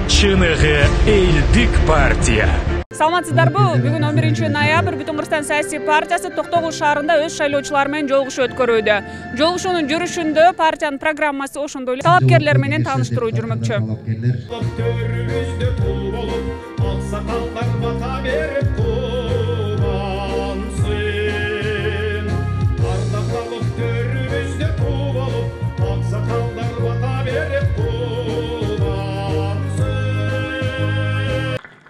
чыныгы элдик партия. Саламатсыздарбы? Бүгүн 11 ноябрь Бүтүн Кыргызстан саясий партиясы Токтогул шаарында өз шайлоочулары менен жолугушуу өткөрүүдө. Жолугушуунун жүрүшүндө партиянын программасы ошондой эле талапкерлер менен тааныштыруу жүрмөкчү.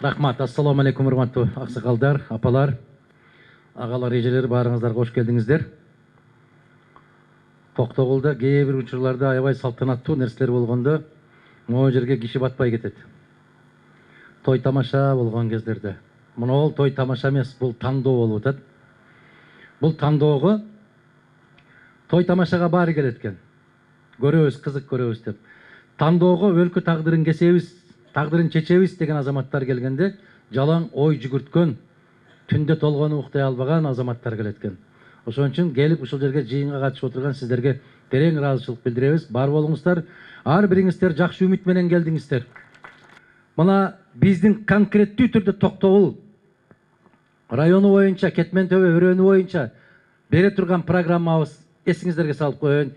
Рахмат, ассаламу алейкум, урматтуу аксакалдар, апалар, агалар, эжелер, баарыңыздарга кош келдиңиздер. Токтогулда кээ бир учурларда аябай салтанаттуу нерселер болгондо могу жерге киши батпай кетет. Той тамаша болгон кездерде. Мына той тамаша эмес, бул тандоо болуп атат. Бул тандоого той тамашага баары келет экен. Көрөбүз, кызык көрөбүз деп. Тандоого өлкө тагдырын кесебиз, тагдырын чечебиз деген азаматтар келгенде жалаң ой жүгүрткөн, түндө толгону уктай албаган азаматтар келет экен. Ошон үчүн келип ушул жерге жыйынга катышып отурган сиздерге терең ыраазычылык билдиребиз. Бар болуңуздар, ар бириңиздер жакшы үмүт менен келдиңиздер. Мына биздин конкреттүү түрдө Токтогул району боюнча, Кетмен Төбө өрөөнү боюнча бере турган программабыз эсиңиздерге салып коеюн.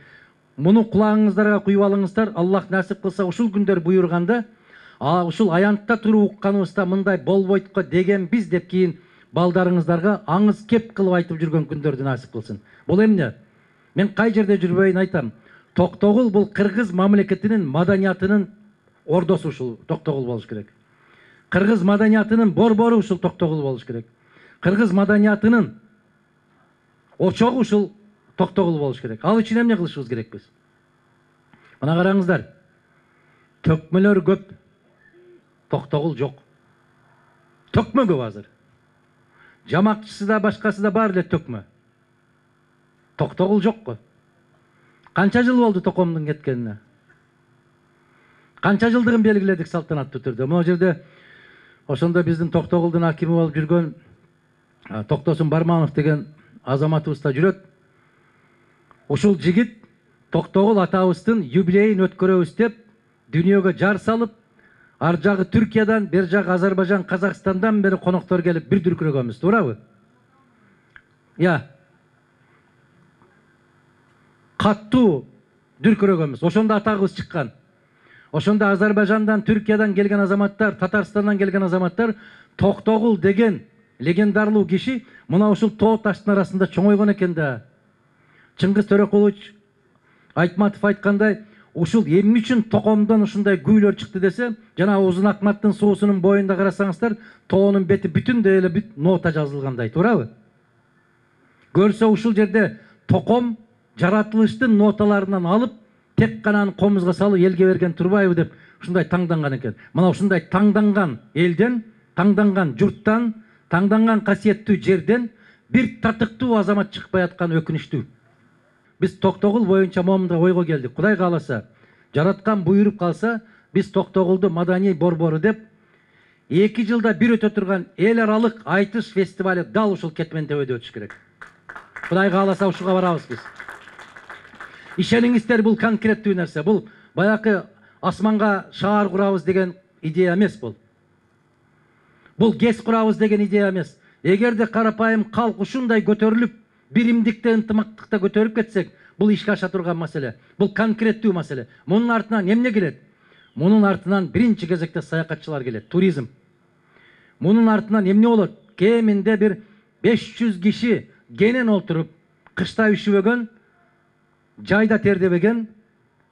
Муну кулагыңыздарга куюп алыңыздар. Аллах насип кылса ушул күндөр буйрганда, ушул аянтта туруп укканыбызда мындай болбойт го дегенбиз деп кийин балдарыңыздарга аңыз кеп кылып айтып жүргөн күндөрдү насип кылсын. Бул эмне? Мен кай жерде жүрбөйүн айтам. Токтогул бул кыргыз мамлекетинин маданиятынын ордосу ушул Токтогул болуш керек. Кыргыз маданиятынын борбору ушул Токтогул болуш керек. Кыргыз маданиятынын очогу ушул Токтогул болуш керек. Ал үчүн эмне кылышыбыз керекпиз? Мына караңыздар. Төкмөлөр көп. Токтогул жок. Төкмө көп азыр. Жамакчысы да башкасы да бар эле төкмө. Токтогул жок го. Канча жыл болду токомдун кеткенине? Канча жылдыгын белгиледик салтанаттуу түрдө. Могу жерде ошондо биздин Токтогулдун акими болуп жүргөн Токтосун Барманов деген азаматыбыз да жүрөт. Ушул жигит Токтогул атабыздын юбилейин өткөрөбүз деп дүйнөгө жар салып, ар жагы Түркиядан, бер жагы Азербайжан, Казакстандан бери коноктор келип бир дүркүрөгөнбүз, туурабы? Каттуу дүркүрөгөнбүз. Ошондо атагыбыз чыккан. Ошондо Азербайжандан, Түркиядан келген азаматтар, Татарстандан келген азаматтар Токтогул деген легендарлуу киши мына ушул тоо таштын арасында чоңойгон экен да. Чыңгыз Төрөкулович Айтматов айткандай, ушул эмне үчүн токомдон ушундай күүлөр чыкты десе, жана Узун Акматтын суусунун боюнда карасаңыздар, тоонун бети бүтүндөй эле нота жазылгандай, туурабы? Көрсө ушул жерде током жаратылыштын ноталарынан алып, тек гана комузга салып элге берген турбайбы деп ушундай таңданган экен. Мына ушундай таңданган элден, таңданган журттан, таңданган касиеттүү жерден бир татыктуу азамат чыкпай аткан өкүнүчтүү. Биз Токтогул боюнча момундай ойго келдик. Кудай кааласа, жараткан буйруп калса, биз Токтогулду маданий борбору деп 2 жылда бир өтө турган эл аралык айтыш фестивали дал ушул Кетмен Төбөдө өтүш керек. Кудай кааласа ушуга барабыз биз. Ишениңиздер, бул конкреттүү нерсе. Бул баягы асманга шаар курабыз деген идея эмес бул. Бул ГЭС курабыз деген идея эмес. Эгерде карапайым калк ушундай көтөрүлүп, биримдикте, ынтымактыкта көтөрүп кетсек, бул ишке аша турган маселе. Бул конкреттүү маселе. Мунун артынан эмне келет? Мунун артынан биринчи кезекте саякатчылар келет, туризм. Мунун артынан эмне болот? Кеминде бир 500 киши кенен олтуруп, кышта үшүбөгөн, жайда тердебеген,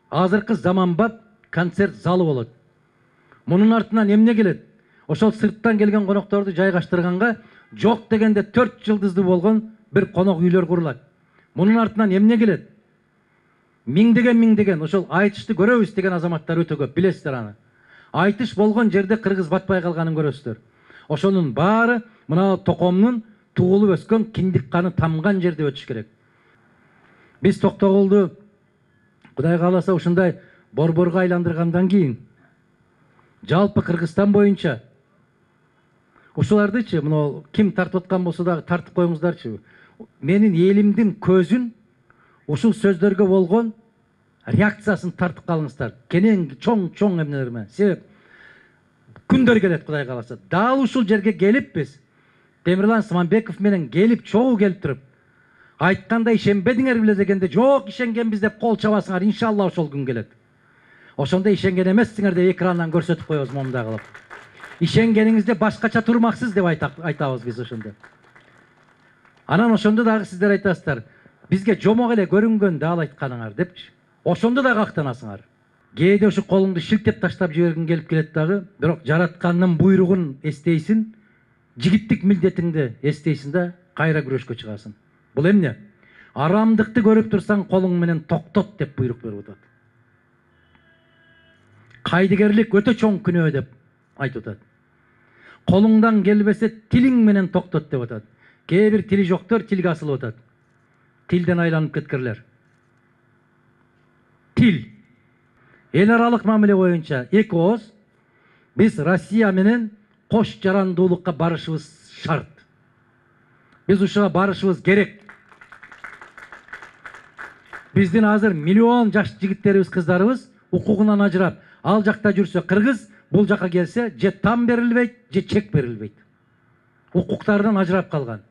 азыркы заманбап концерт залы болот. Мунун артынан эмне келет? Ошол сырттан келген конокторду жайгаштырганга жок дегенде 4 жылдыздуу болгон бир конок үйлөр курулат. Мунун артынан эмне келет? Миңдеген ошол айтышты көрөбүз деген азаматтар өтө көп, билесиздер аны. Айтыш болгон жерде кыргыз батпай калганын көрөсүздөр. Ошонун баары мына токомдун туулуп өскөн, киндик каны тамган жерде өтүш керек. Биз Токтогулду Кудай кааласа ушундай борборго айландыргандан кийин жалпы Кыргызстан боюнча ушулардычы, мына ким тартып аткан болсо дагы тартып коюңуздарчы. Менин элимдин көзүн ушул сөздөргө болгон реакциясын тартып калыңыздар. Кенен чоң эмнелер менен. Себеп күндөр келет Кудай кааласа. Дал ушул жерге келип биз Темирлан Сыманбеков менен келип, чогуу келип туруп айтканда ишенбедиңер беле дегенде, жок ишенгенбиз деп кол чабасыңар, иншалла ошол күн келет. Ошондо ишенген эмессиңер деп экрандан көрсөтүп коебуз момундай кылып. Ишенгениңизде башкача турмаксыз деп айтабыз биз ошондо. Анан ошондо дагы сиздер айтасыздар, бизге жомок эле көрүнгөн да ал айтканыңар депчи. Ошондо да кактанасыңар. Кээде ушу колуңду шилтеп таштап жибергиң келип келет дагы, бирок жараткандын буйругун эстейсиң, жигиттик милдетиңди эстейсиң да кайра күрөшкө чыгасың. Бул эмне? Арамдыкты көрүп турсаң колуң менен токтот деп буйрук берип атат. Кайдыгерлик өтө чоң күнөө деп айтып атат. Колуңдан келбесе тилиң менен токтот деп атат. Кээ бир тили жоктор тилге асылып атат. Тилден айланып кеткирлер. Тил. Эл аралык мамиле боюнча эки ооз биз Россия менен кош жарандуулукка барышыбыз шарт. Биз ушуга барышыбыз керек. Биздин азыр миллион жаш жигиттерибиз, кыздарыбыз укугунан ажырап, ал жакта жүрсө кыргыз, бул жака келсе же там берилбейт, же чек берилбейт. Укуктарынан ажырап калган.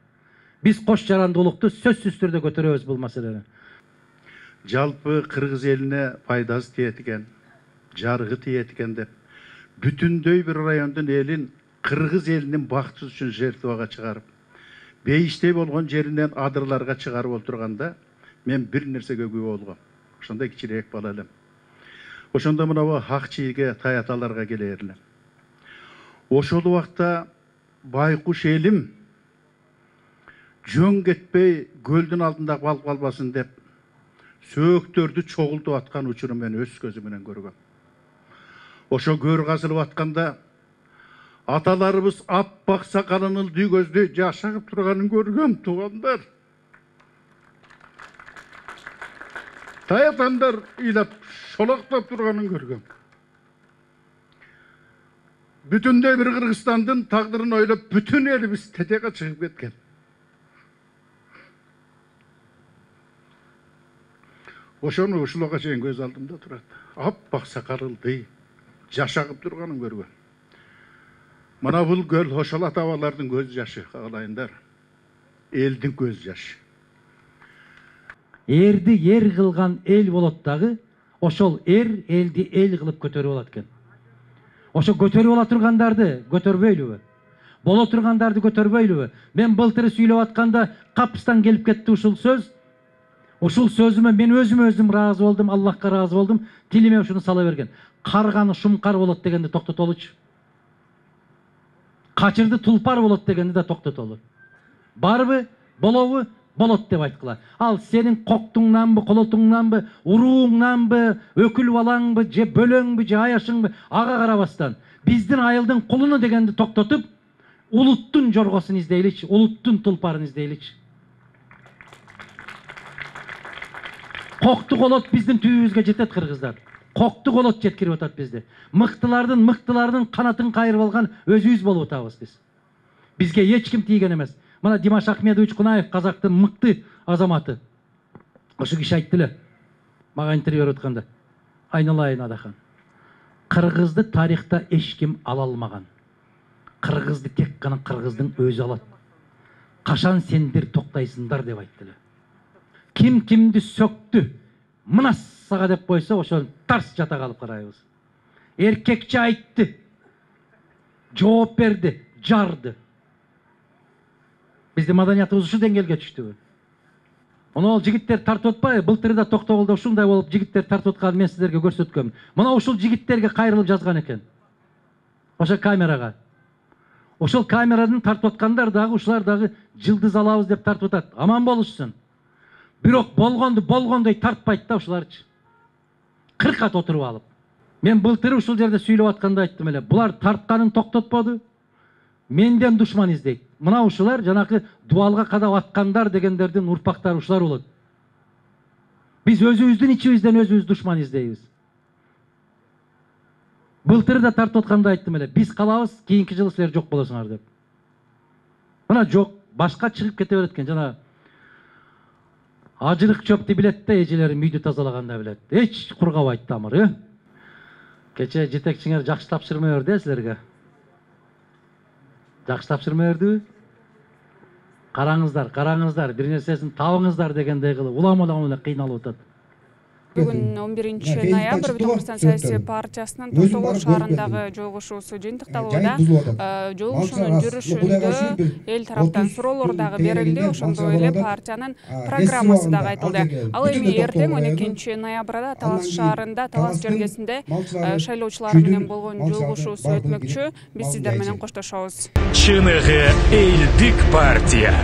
Биз кош жарандуулукту сөзсүз түрдө көтөрөбүз бул маселени. Жалпы кыргыз элине пайдасы тиет экен, жарыгы тиет экен деп бүтүндөй бир райондун элин кыргыз элинин бактысы үчүн жертвага чыгарып, бейиштей болгон жеринен адырларга чыгарып олтурганда мен бир нерсеге күбө болгом. Ошондой кичирээк бала элем. Ошондо мына ак чийге таяталарга келер элем. Ошол убакта байкуш элим жөн кетпей көлдүн алдында калып калбасын деп сөөктөрдү чогултуп аткан учурун мен өз көзүм менен көргөм. Ошо көр казылып атканда аталарыбыз аппак сакалын ылдый көздөй жашагып турганын көргөм, туугандар. Таятандар ыйлап шолоктоп турганын көргөм. Бүтүндөй бир Кыргызстандын тагдырын ойлоп, бүтүн элибиз тетеге чыгып кеткен. Ошону ушулга чейин көз алдымда турат. Аппак сакалылды жашагып турганын көргөм. Мына бул көл ошол ата-бабалардын көз жашы, каалайындар. Элдин көз жашы. Эрди ер кылган эл болот дагы, ошол элди эл кылып көтөрүп алат экен. Ошо көтөрүп ала тургандарды көтөрбөйлүбү? Боло тургандарды көтөрбөйлүбү? Мен былтыр сүйлөп атканда капыстан келип кетти ушул сөз. Ушул сөзүмө мен өзүм ыраазы болдум, Аллахка ыраазы болдум. Тилиме ушуну сала берген. Карганы шумкар болот дегенди токтотолучу. Качырды тулпар болот дегенди да токтотолу. Барбы, болобу? Болот деп айткыла. Ал сенин коктуңнанбы, колотуңнанбы, урууңнанбы, өкүл балаңбы, же бөлөңбү, же аяшыңбы, ага карабастан биздин айылдын кулуну дегенди токтотуп, улуттун жоргосун издейличи, улуттун тулпарын издейличи. Кокту колот биздин түбүбүзгө жетет, кыргыздар. Кокту колот жеткирип атат бизди. Мыктылардын канатын кайрып алган өзүбүз болуп атабыз биз. Бизге эч ким тийген эмес. Мына Димаш Ахмедович Кунаев, казактын мыкты азаматы. Ошо киши айтты эле, мага интервью берип атканда. Айналайын Адахан. Кыргызды тарихта эч ким ала алмаган. Кыргызды тек гана кыргыздын өзү алат. Кашан сендер токтойсуңдар деп айтты эле. Ким кимди сөктү, мынасага деп койсо, ошол тарс жата калып карайбыз. Эркекче айтты, жооп берди, жарды. Биздин маданиятыбыз ушу деңгээлге түштүбү? Мына ал жигиттер тартып атпайбы? Былтыр да Токтогулда ушундай болуп жигиттер тартып атканын мен сиздерге көрсөткөм. Мына ушул жигиттерге кайрылып жазган экен. Ошо камерага. Ошол камерадан тартып аткандар дагы ушулар дагы жылдыз алабыз деп тартып атат. Аман болушсун. Бирок болгондой тартпайт да ушуларчы. 40 кат отуруп алып. Мен былтыр ушул жерде сүйлөп атканда айттым эле. Булар тартканын токтотподу. Менден душман издейт. Мына ушулар жанакы дуалга кадап аткандар дегендердин урпактары ушулар болот. Биз өзүбүздүн ичибизден өзүбүз душман издейбиз. Былтыр да тартып атканда айттым эле. Биз калабыз, кийинки жылы силер жок болосуңар деп. Мына жок, башка чыгып кете берет экен. Жана ажырык чөптү билет да, эжелери үйдү тазалаганда билет. Эч кургабайт тамыр, Кече жетекчиңер жакшы тапшырма берди силерге. Жакшы тапшырма бердиби? Караңыздар, бир нерсесин табыңыздар дегендей кылып улам эле кыйналып атат. Бүгүн 11 ноябрь Бүтүн Кыргызстан саясий партиясынын Токтогул шаарындагы жолугушуусу жыйынтыкталууда. Жолугушуунун жүрүшүндө эл тараптан суроолор дагы берилди, ошондой эле партиянын программасы дагы айтылды. Ал эми эртең 12 ноябрда Талас шаарында, Талас жергесинде шайлоочулар менен болгон жолугушуусу өтмөкчү. Биз сиздер менен коштошобуз. Чыныгы элдик партия.